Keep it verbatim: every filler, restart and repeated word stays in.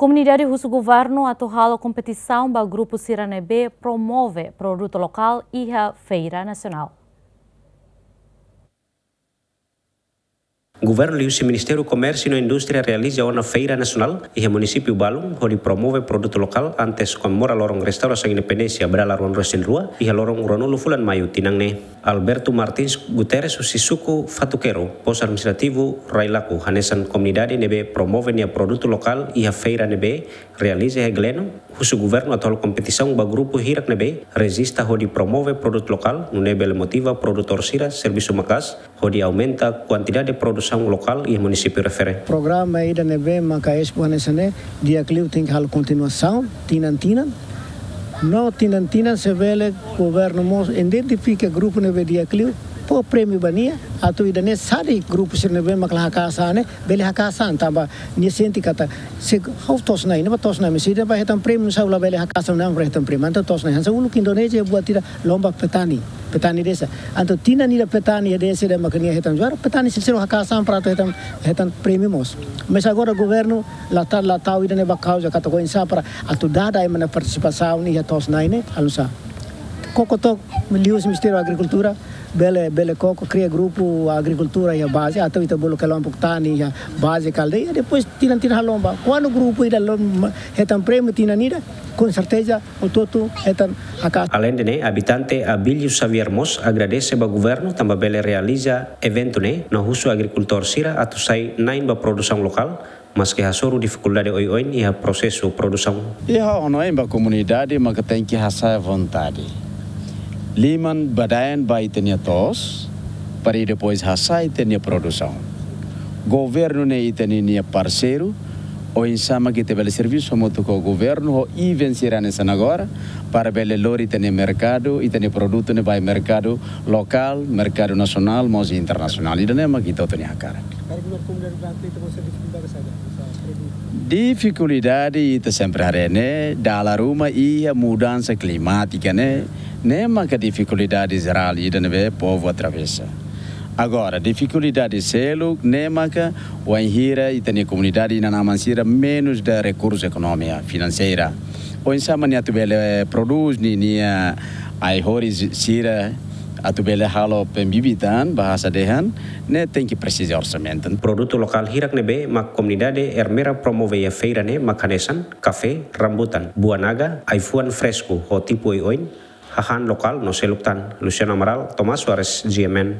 Komunidade husu governu atu halo kompetisaun ba grupu sira ne'ebé promove produtu lokál iha feira nasionál. Governu liuhusi Ministériu Komérsiu no Indústria realiza ona feira nasionál iha munisípiu balun hodi promove produtu lokál antes komemora loron restaurasaun independénsia ba dala ruanulu-resin-rua iha loron ruanulu fulan Maiu tinan ne'e. Alberto Martins Guterres husi suku Fatuquero, postu administrativu Railaco, hanesan komunidade ne'ebé promove nia produtu lokál iha feira ne'ebé realiza iha Gleno, husu governu atu halo kompetisaun ba grupu hirak ne'ebé rejista hodi promove produtu lokál, nune'e bele motiva produtór sira servisu maka'as hodi aumenta kuantidade produsaun lokál iha munisípiu refere. Programa ida ne'ebé maka Expo hanesan ne'e, di'ak liu tenke halo kontinuasaun tinan-tinan. No tinan-tinan se bele governu mós identifika grupu ne'ebé di'ak liu, fó prémiu ba nia, atu ida-ne'e sai grupu sira ne'ebé mak la haka'as an ne'e, bele haka'as an, tanba nia sente katak se ha'u to'os-na'in, ne'ebá to'os-na'in, mas ida-ne'ebá hetan prémiu, nu'usá ula bele haka'as an ne'e, ora hetan prémiu. Entaun to'os-na'in, hanesan uluk Indonézia buat ida lomba petani. Petani desa. Entaun tinan ida petani desa ne'ebé mak nia hetan juara, petani sira sira haka'as an para atu hetan, hetan prémiu mós. Mas agora governu la tau, la tau ida-ne'e ba kauza katak oinsá para atu dada ema nia partisipasaun iha to'os-na'in ne'e, halo nu'usá. Koko took liuhusi Ministériu Agrikultura, bele, bele koko kria grupu agrikultura iha baze, atu ita bolu kelompok tani iha baze ka aldeia, depois tinan-tinan halo lomba. Kuandu grupu ida lom-, hetan prémiu tinan ida, com certeza, hotu-hotu hetan haka'as. Aleinde ne'e, abitante Abílio Xavier mós agradese ba governu tanba bele realiza eventu ne'e, no husu agrikultór sira atu sai na'in ba produsaun lokál, maske hasoru difikuldade oioin iha prosesu produsaun. Iha ha'u hanoin ba komunidade maka tenke hasa'e vontade. Liman badaen ba ita-nia to'os, para depois hasa'e ita-nia produsaun. Governu ne'e ita-nia parseiru, oinsá mak ita bele servisu hamutuk ho governu, ho event sira hanesan agora, para bele lori ita-nia merkadu, ita-nia produtu ne'e ba merkadu lokál, merkadu nasionál, mós internasionál. Ida-ne'e mak ita hotu nia hakarak. Difikuldade ita sempre haree ne'e, dala ruma iha mudansa klimátika ne'e, ne'e maka difikuldade jerál ida ne'ebé povu atravesa. Agora, difikuldade seluk ne'e maka wainhira ita-nia komunidade inan-aman sira menus da rekursu ekonomia, finanseira. Oinsá mak nia atu bele prodús ninia ai-horis sira atu bele halo pembibitan, bahasa dehan, ne'e tenke presiza orsamentu. Produtu lokál hirak ne'ebé mak komunidade Ermera promove iha feira ne'e mak hanesan kafé, rambutan, buah naga, ai-fuan fresku ho tipu oioin, hahán lokál no seluk tan. Luciano Amaral, Tomás Soares, G M N.